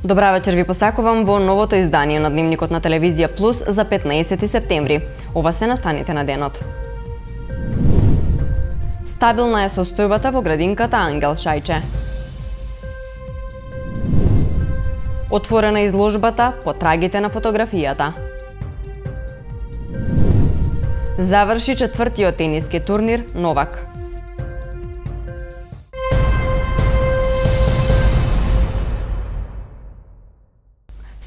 Добра вечер ви посакувам во новото издание на Дневникот на Телевизија Плюс за 15 септември. Ова се настаните на денот. Стабилна е состојбата во градинката Ангел Шајче. Отворена изложбата Потрагите на фотографијата. Заврши четвртиот тениски турнир Новак.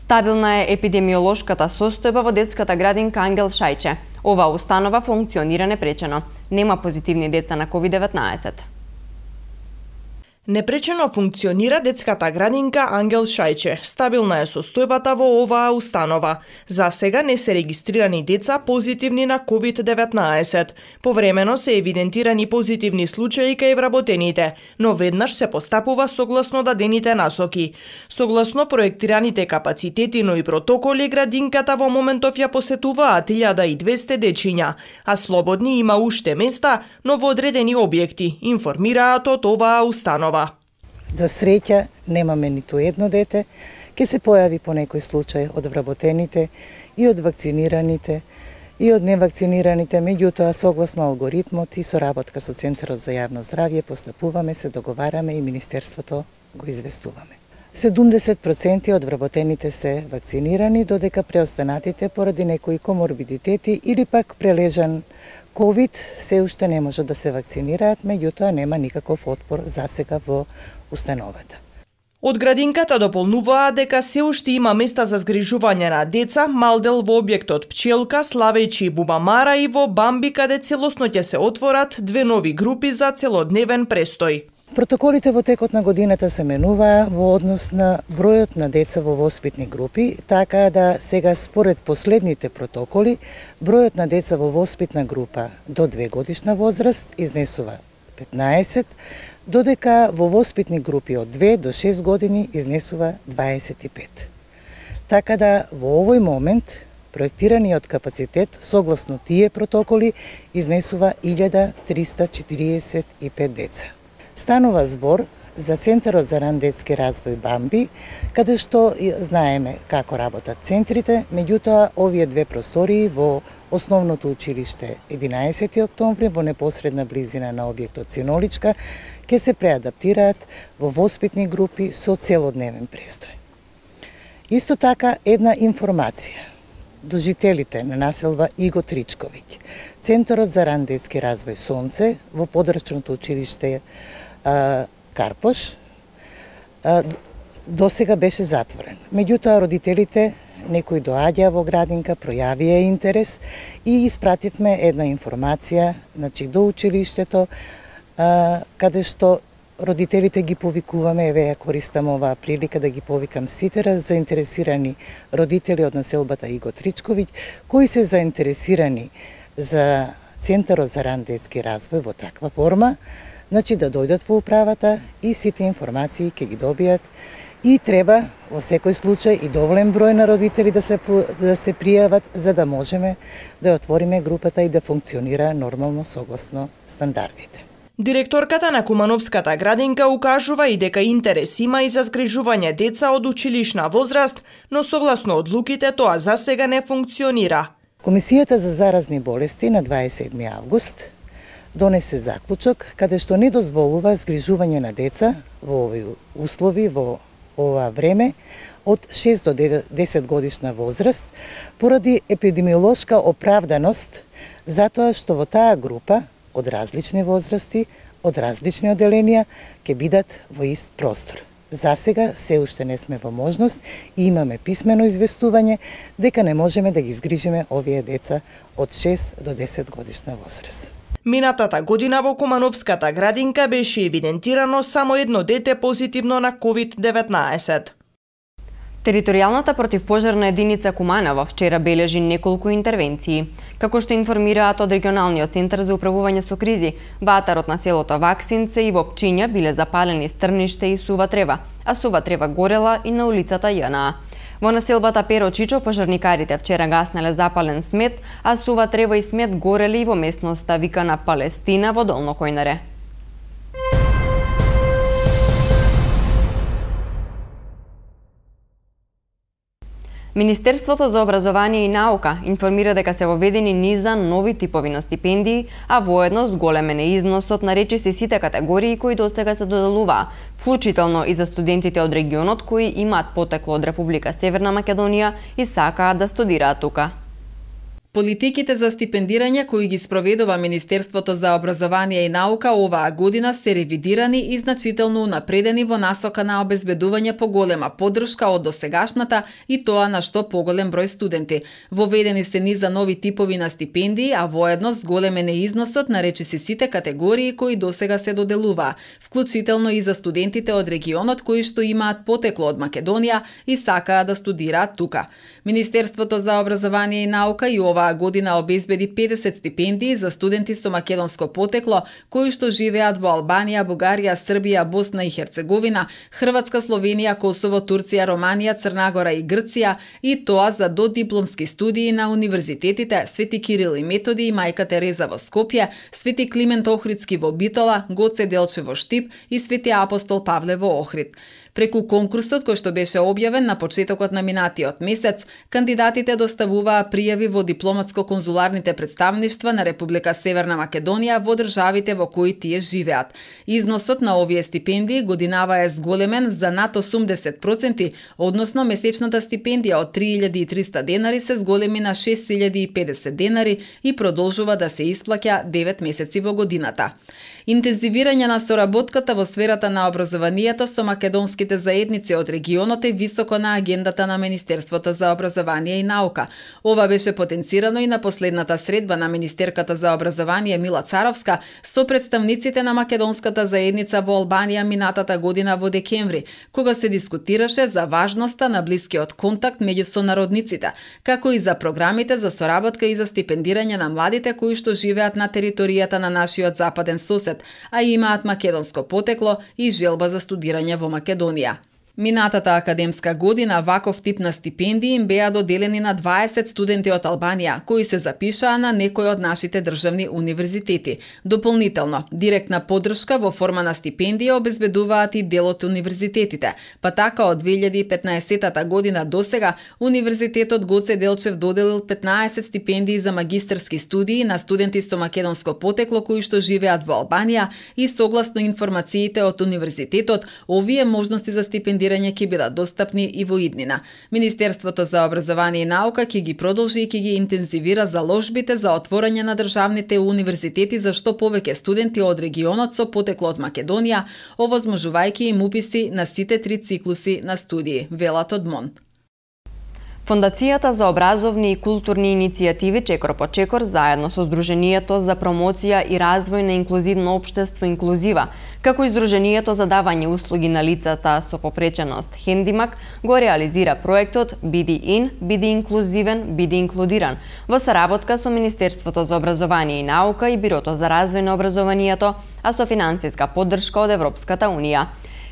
Стабилна е епидемиолошката состојба во детската градинка Ангел Шајче. Оваа установа функционира непречено. Нема позитивни деца на COVID-19. Непречено функционира детската градинка Ангел Шајче. Стабилна е состојбата во оваа установа. За сега не се регистрирани деца позитивни на COVID-19. Повремено се евидентирани позитивни случаи кај вработените, но веднаш се постапува согласно дадените насоки. Согласно проектираните капацитети, но и протоколи, градинката во моментов ја посетуваат 1200 дечиња, а слободни има уште места, но во одредени објекти, информираат од оваа установа. За среќа немаме ниту едно дете, ке се појави по некој случај од вработените и од вакцинираните и од невакцинираните, меѓутоа согласно алгоритмот и соработка со Центарот за јавно здравје постапуваме, се договараме и Министерството го известуваме. 70% од вработените се вакцинирани, додека преостанатите поради некои коморбидитети или пак прележан COVID се уште не може да се вакцинираат, меѓутоа нема никаков отпор засега во установата. Од градинката дополнуваат дека се уште има места за згрижување на деца, малдел во објектот Пчелка, Славејчи и Бубамара и во Бамби, каде целосно ќе се отворат две нови групи за целодневен престој. Протоколите во текот на годината се менуваа во однос на бројот на деца во воспитни групи, така да сега според последните протоколи, бројот на деца во воспитна група до 2 годишна возраст изнесува 15, додека во воспитни групи од 2 до 6 години изнесува 25. Така да во овој момент проектираниот капацитет согласно тие протоколи изнесува 1345 деца. Станува збор за Центарот за ран детски развој Бамби, каде што знаеме како работат центрите, меѓутоа овие две простории во основното училиште 11 октомври во непосредна близина на објектот Синоличка ќе се преадаптираат во воспитни групи со целодневен престој. Исто така една информација до жителите на населба Иго Тричковиќ. Центарот за ран детски развој Сонце во подрачното училиште Карпош досега беше затворен. Меѓутоа родителите некои доаѓаа во градинка, пројавија интерес и испративме една информација до училиштето каде што родителите ги повикуваме, еве ја користам оваа прилика да ги повикам сите заинтересирани родители од населбата Иго Тричковиќ, кои се заинтересирани за Центарот за ран детски развој во таква форма, да дојдат во управата и сите информации ќе ги добијат и треба во секој случај и доволен број на родители да се пријават за да можеме да отвориме групата и да функционира нормално согласно стандардите. Директорката на Кумановската градинка укажува и дека интерес има и за згрижување деца од училишна возраст, но согласно одлуките тоа засега не функционира. Комисијата за заразни болести на 27 август донесе заклучок каде што не дозволува згрижување на деца во овој услови, во ова време, од 6 до 10 годишна возраст, поради епидемиолошка оправданост, затоа што во таа група од различни возрасти, од различни оделенија, ќе бидат во ист простор. За сега се уште не сме во можност и имаме писмено известување дека не можеме да ги згрижиме овие деца од 6 до 10 годишна возраст. Минатата година во Кумановската градинка беше евидентирано само едно дете позитивно на COVID-19. Територијалната противпожарна единица Куманово вчера бележи неколку интервенции. Како што информираат од регионалниот центар за управување со кризи, ватарот на селото Ваксинце и во Пчиња биле запалени стрниште и сува трева, а сува трева горела и на улицата ЈНА. Во населбата Перо Чичо пожарникарите вчера гаснеле запален смет, а сува трева и смет горели и во местноста викана Палестина во Долно Којнаре. Министерството за образование и наука информира дека се воведени низа нови типови на стипендии, а воедно зголемен е износот на речиси сите категории кои досега се доделуваа, вклучително и за студентите од регионот кои имаат потекло од Република Северна Македонија и сакаат да студираат тука. Политиките за стипендирање кои ги спроведува Министерството за образование и наука оваа година се ревидирани и значително унапредени во насока на обезбедување поголема поддршка од досегашната и тоа на што поголем број студенти. Воведени се низа нови типови на стипендии, а воедно зголемен е износот на речиси сите категории кои досега се доделуваа, вклучително и за студентите од регионот кои што имаат потекло од Македонија и сакаат да студираат тука. Министерството за образование и наука и оваа година обезбеди 50 стипендии за студенти со македонско потекло кои што живеат во Албанија, Бугарија, Србија, Босна и Херцеговина, Хрватска, Словенија, Косово, Турција, Романија, Црнагора и Грција, и тоа за додипломски студии на универзитетите Свети Кирил и Методи и Мајка Тереза во Скопје, Свети Климент Охридски во Битола, Гоце Делчев во Штип и Свети Апостол Павле во Охрид. Преку конкурсот кој што беше објавен на почетокот на минатиот месец, кандидатите доставуваа пријави во дипломатско-конзуларните представништва на Република Северна Македонија во државите во кои тие живеат. Износот на овие стипендии годинава е зголемен за над 80%, односно месечната стипендија од 3300 денари се зголеми на 6050 денари и продолжува да се исплаќа 9 месеци во годината. Интензивирање на соработката во сферата на образованието со македонските заедници од регионот е високо на агендата на Министерството за образование и наука. Ова беше потенцирано и на последната средба на министерката за образование Мила Царовска со представниците на македонската заедница во Албанија минатата година во декември, кога се дискутираше за важноста на блискиот контакт меѓу сонародниците, како и за програмите за соработка и за стипендирање на младите кои што живеат на територијата на нашиот западен сосед, а имаат македонско потекло и желба за студирање во Македонија. Минатата академска година ваков тип на стипендии им беа доделени на 20 студенти од Албанија, кои се запишаа на некој од нашите државни универзитети. Дополнително, директна поддршка во форма на стипендија обезбедуваат и дел од универзитетите, па така од 2015 година досега Универзитетот Гоце Делчев доделил 15 стипендии за магистерски студии на студенти со македонско потекло кои што живеат во Албанија и согласно информациите од универзитетот, овие можности за стипендирање ќе бидат достапни и во иднина. Министерството за образование и наука ќе ги продолжи и ќе ги интензивира заложбите за отворање на државните универзитети за што повеќе студенти од регионот со потекло од Македонија, овозможувајќи им уписи на сите 3 циклуси на студии, велат од МОН. Фондацијата за образовни и културни иницијативи Чекор по Чекор заедно со Сдруженијето за промоција и развој на инклузивно општество Инклузива, како и Сдруженијето за давање услуги на лицата со попреченост Хендимак, го реализира проектот Биди ин, биди инклузивен, биди инклудиран во соработка со Министерството за образование и наука и Бирото за развој на образованието, а со финансиска поддршка од Европската унија.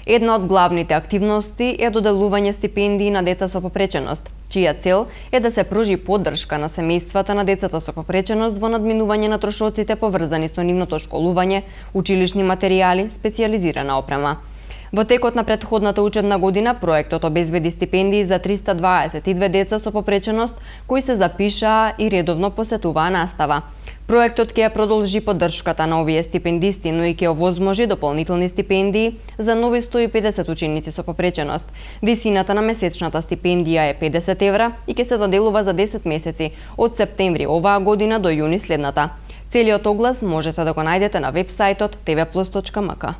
Една од главните активности е доделување стипендии на деца со попреченост, чија цел е да се пружи поддршка на семејствата на децата со попреченост во надминување на трошоците поврзани со нивното школување, училишни материјали, специјализирана опрема. Во текот на претходната учебна година проектот обезбеди стипендии за 322 деца со попреченост кои се запишаа и редовно посетуваа настава. Проектот ќе продолжи поддршката на овие стипендисти, но и ќе овозможи дополнителни стипендии за нови 150 ученици со попреченост. Висината на месечната стипендија е 50 евра и ќе се доделува за 10 месеци, од септември оваа година до јуни следната. Целиот оглас можете да го најдете на вебсајтот tvplus.mk.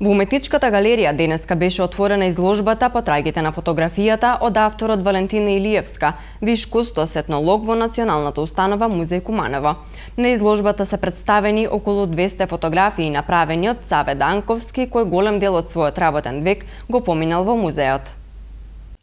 Во Уметничката галерија денеска беше отворена изложбата Потрагите на фотографијата од авторот Валентина Илиевска, виш кустос етнолог во Националната установа Музеј Куманово. На изложбата се представени околу 200 фотографии направени од Саве Данковски, кој голем дел од својот работен век го поминал во музеот.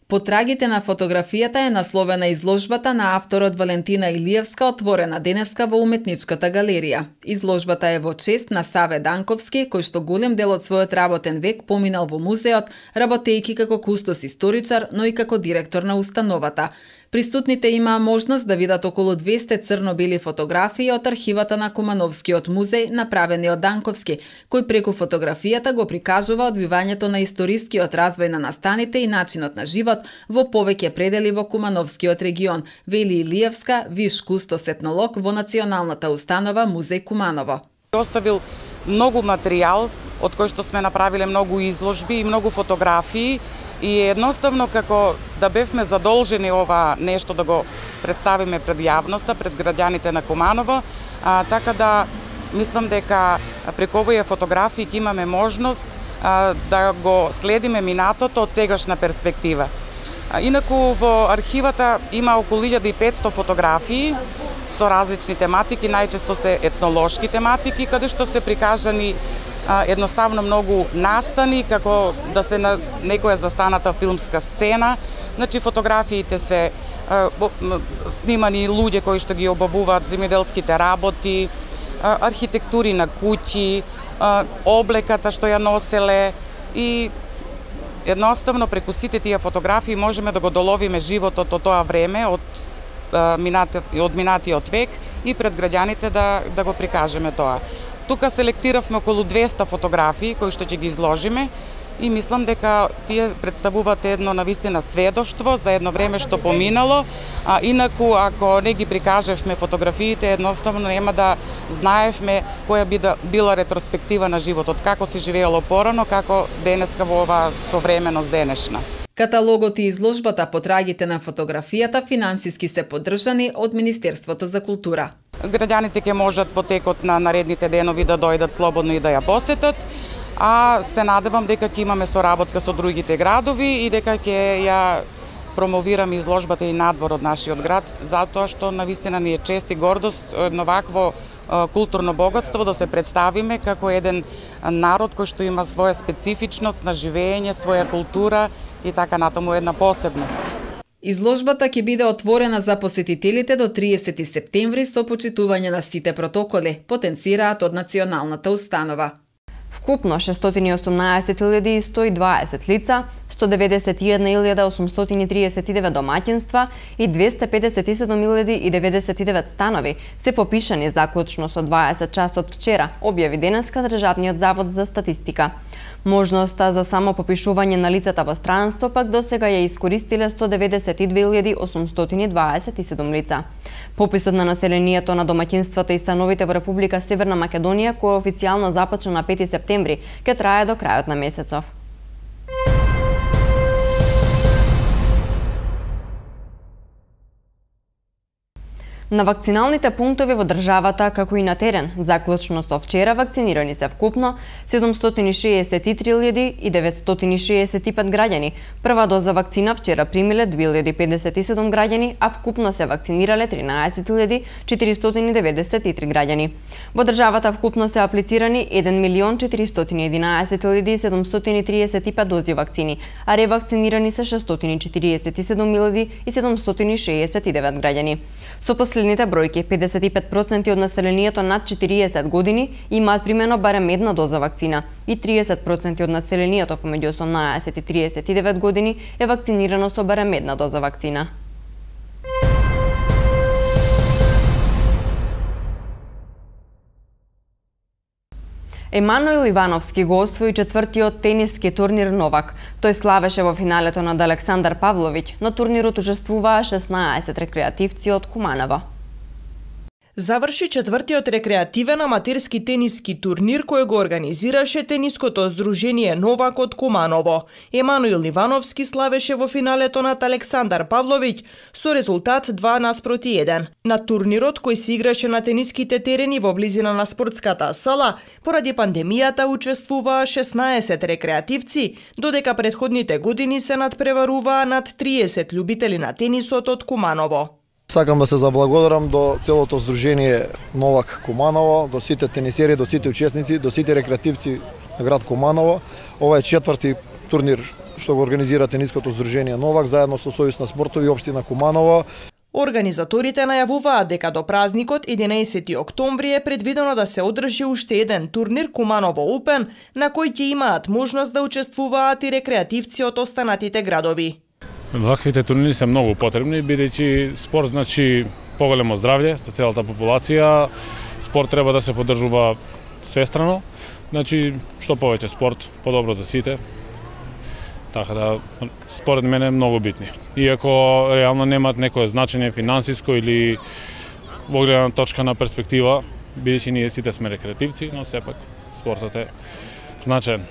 Потрагите на фотографијата е насловена изложбата на авторот Валентина Илиевска, отворена денеска во Уметничката галерија. Изложбата е во чест на Саве Данковски, кој што голем дел од својот работен век поминал во музеот, работејќи како кустос историчар, но и како директор на установата. Присутните имаа можност да видат околу 200 црно-бели фотографии од архивата на Кумановскиот музеј, направени од Данковски, кој преку фотографијата го прикажува одвивањето на историскиот развој на настаните и начинот на живот во повеќе предели во Кумановскиот регион, вели Илиевска, виш кустос етнолог во Националната установа Музеј Куманово. Оставил многу материјал, од кој што сме направиле многу изложби и многу фотографии, и едноставно како да бевме задолжени ова нешто да го представиме пред јавноста, пред граѓаните на Куманово, така да мислам дека преку овие фотографии ќе имаме можност да го следиме минатото од сегашна перспектива. Инаку во архивата има околу 1500 фотографии со различни тематики, најчесто се етнолошки тематики, каде што се прикажани едноставно многу настани, како да се на некоја застаната филмска сцена. Значи, фотографиите се снимани луѓе кои што ги обавуваат земјоделските работи, архитектури на куќи, облеката што ја носеле, и едноставно преку сите тие фотографии можеме да го доловиме животот од тоа време, од минатиот век, и пред граѓаните да го прикажеме тоа. Тука селектиравме околу 200 фотографии кои што ќе ги изложиме, и мислам дека тие представуваат едно навистина сведоштво за едно време што поминало, а инаку ако не ги прикажевме фотографиите, едноставно нема да знаевме која била ретроспектива на животот, како се живеело порано, како денеска во оваа современост денешна. Каталогот и изложбата по трагите на фотографијата финансиски се поддржани од Министерството за култура. Граѓаните ќе можат во текот на наредните денови да дојдат слободно и да ја посетат, а се надевам дека ќе имаме соработка со другите градови и дека ќе ја промовираме изложбата и надвор од нашиот град, затоа што навистина ни е чест и гордост едно вакво културно богатство да се представиме како еден народ кој што има своја специфичност на живење, своја култура и така натаму една посебност. Изложбата ќе биде отворена за посетителите до 30 септември со почитување на сите протоколи, потенцираат од Националната установа. Вкупно 618.120 лица, 191.839 домаќинства и 257.099 станови се попишани заклучно со 20 часот вчера, објави денеска Државниот завод за статистика. Можноста за само попишување на лицата во странство пак досега ја искористиле 192.827 лица. Пописот на населението на домаќинствата и становите во Република Северна Македонија, кој официјално започна на 5 септември, ќе трае до крајот на месецов. На вакциналните пунктови во државата, како и на терен, заклучно со вчера вакцинирани се вкупно 763.965 граѓани. Прва доза вакцина вчера примиле 2057 граѓани, а вкупно се вакцинирале 13.493 граѓани. Во државата вкупно се аплицирани 1.411.735 дози вакцини, а ревакцинирани се 647.769 граѓани. Со последните бројки, 55% од населението над 40 години имаат примено барем една доза вакцина и 30% од населението помеѓу 18 и 39 години е вакцинирано со барем една доза вакцина. Емануил Ивановски го освои четвртиот тениски турнир Новак. Тој славеше во финалето над Александар Павловиќ. На турнирот учествуваа 16 рекреативци од Куманово. Заврши четвртиот рекреативен аматерски тениски турнир кој го организираше тениското здружение Новак од Куманово. Емануил Ивановски славеше во финалето над Александар Павловиќ со резултат 2:1. На турнирот кој се играше на тениските терени во близина на спортската сала, поради пандемијата учествуваа 16 рекреативци, додека претходните години се надпреваруваа над 30 љубители на тенисот од Куманово. Сакам да се заблагодарам до целото здружение Новак Куманово, до сите тенисери, до сите учесници, до сите рекреативци на град Куманово. Ова е четврти турнир што го организира тениското здружение Новак заедно со Сојуз на спортови општина Куманово. Организаторите најавуваат дека до празникот 11 октомври е предвидено да се одржи уште еден турнир Куманово Open, на кој ќе имаат можност да учествуваат и рекреативци од останатите градови. Ваквите турнири се многу потребни, бидејќи спорт значи поголемо здравје за целата популација. Спорт треба да се поддржува свестрано. Значи, што повеќе спорт, подобро за сите. Така да, според мене многу битни. Иако реално немаат некое значење финансиско или во гледна точка на перспектива, бидејќи ние сите сме рекреативци, но сепак спортот е значаен.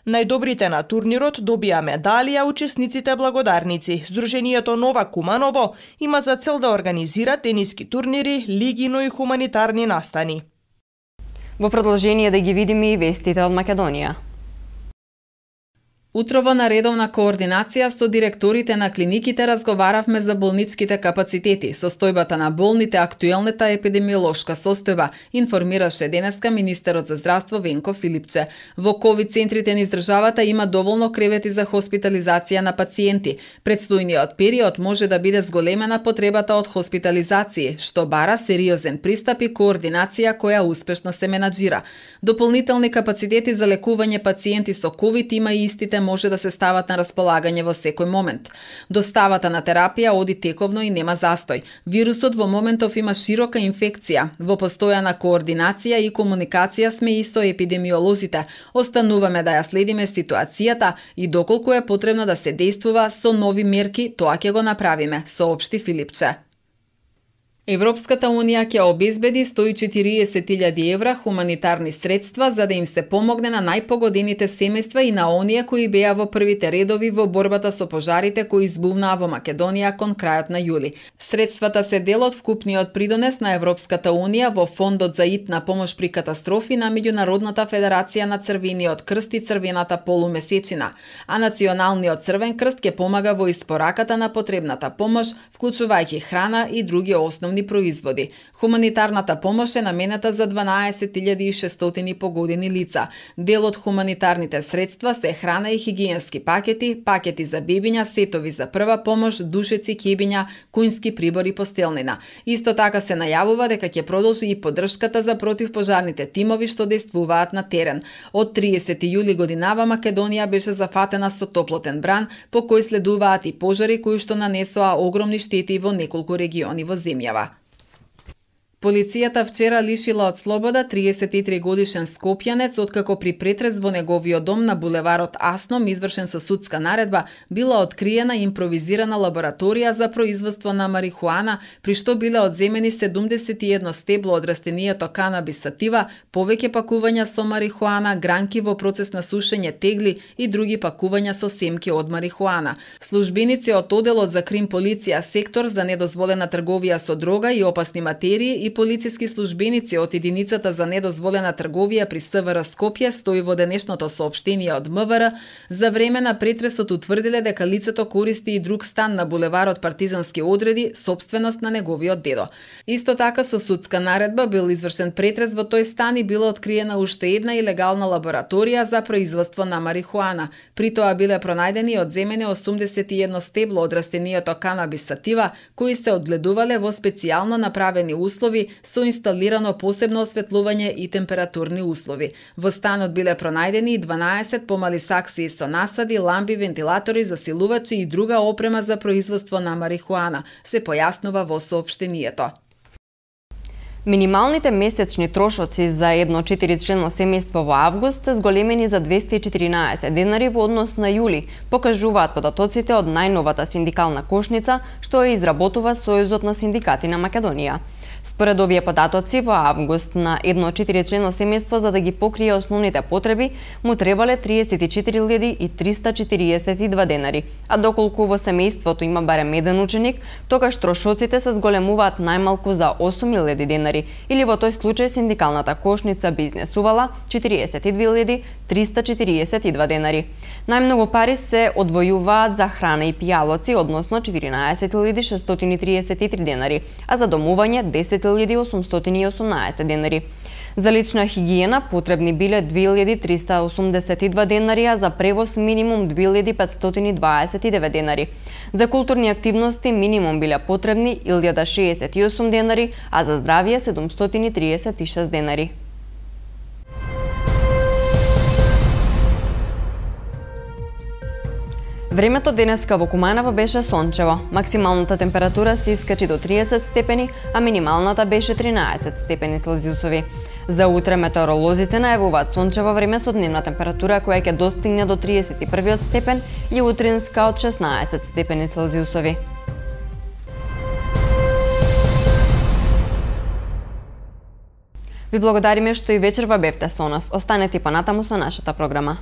Најдобрите на турнирот добија медалија учесниците благодарници. Сдруженијето Нова Куманово има за цел да организира тениски турнири, лиги, но и хуманитарни настани. Во продолжение да ги видиме и вестите од Македонија. Утрово на редовна координација со директорите на клиниките разговаравме за болничките капацитети, состојбата на болните, актуелната епидемиолошка состојба, информираше денеска министерот за здравство Венко Филипче. Во ковид центрите низ државата има доволно кревети за хоспитализација на пациенти. Предстојниот период може да биде зголемена потребата од хоспитализација, што бара сериозен пристап и координација која успешно се менаџира. Дополнителни капацитети за лекување пациенти со ковид има и истите може да се стават на располагање во секој момент. Доставата на терапија оди тековно и нема застој. Вирусот во моментов има широка инфекција. Во постојана координација и комуникација сме и со епидемиолозите. Остануваме да ја следиме ситуацијата и доколку е потребно да се действува со нови мерки, тоа ќе го направиме, соопшти Филипче. Европската Унија ќе обезбеди 140.000 евра хуманитарни средства за да им се помогне на најпогодените семејства и на оние кои беа во првите редови во борбата со пожарите кои избувнаа во Македонија кон крајот на јули. Средствата се дел од вкупниот придонес на Европската Унија во Фондот за итна помош при катастрофи на Меѓународната федерација на Црвениот крст и Црвената полумесечина, а Националниот Црвен крст ќе помага во испораката на потребната помош, вклучувајќи храна и други основни производи. Хуманитарната помош е наменета за 12.600 погодени лица. Дел од хуманитарните средства се храна и хигиенски пакети, пакети за бебиња, сетови за прва помош, душеци, кебиња, куњски прибори, постелнина. Исто така се најавува дека ќе продолжи и поддршката за противпожарните тимови што действуваат на терен. Од 30 јули годинава Македонија беше зафатена со топлотен бран, по кој следуваат и пожари кои што нанесоа огромни штети во неколку региони во земјава. Полицијата вчера лишила од слобода 33 годишен скопјанец откако при претрес во неговиот дом на булеварот Асном, извршен со судска наредба, била откриена импровизирана лабораторија за производство на марихуана, при што биле одземени 71 стебло од растенијето канабис сатива, повеќе пакувања со марихуана, гранки во процес на сушење, тегли и други пакувања со семки од марихуана. Службеници од Оделот за крим полиција сектор за недозволена трговија со дрога и опасни материи и полициски службеници од единицата за недозволена трговија при СВР Скопје, стои во денешното соопштение од МВР, за време на претресот утврдиле дека лицето користи и друг стан на булеварот Партизански одреди, собственост на неговиот дедо. Исто така со судска наредба бил извршен претрес во тој стан и била откриена уште една илегална лабораторија за производство на марихуана. При тоа биле пронајдени и одземени 81 стебло од растенијето канабис сатива, кои се одгледувале во специјално направени услови со инсталирано посебно осветлување и температурни услови. Во станот биле пронајдени и 12 помали саксии со насади, лампи, вентилатори, засилувачи и друга опрема за производство на марихуана, се појаснува во соопштението. Минималните месечни трошоци за едно 4-члено семејство во август се зголемени за 214 денари во однос на јули, покажуваат податоците од најновата синдикална кошница што ја изработува Сојузот на синдикати на Македонија. Според овие податоци, во август на едно 4-члено семејство за да ги покрие основните потреби му требале 34.342 денари, а доколку во семејството има барем еден ученик, тогаш трошоците се зголемуваат најмалку за 8.000 денари, или во тој случај синдикалната кошница би изнесувала 42.342 денари. Најмногу пари се одвојуваат за храна и пијалоци, односно 14.633 денари, а за домување 10.818 денари. За лична хигиена потребни биле 2.382 денари, а за превоз минимум 2.529 денари. За културни активности минимум биле потребни 1.068 денари, а за здравје 736 денари. Времето денеска во Куманово беше сончево. Максималната температура се искачи до 30 степени, а минималната беше 13 степени Целзиусови. За утре метеоролозите најавуваат сончево време со дневна температура која ќе достигне до 31 степен и утринска од 16 степени Целзиусови. Ви благодариме што и вечерва бевте со нас. Останете понатаму со нашата програма.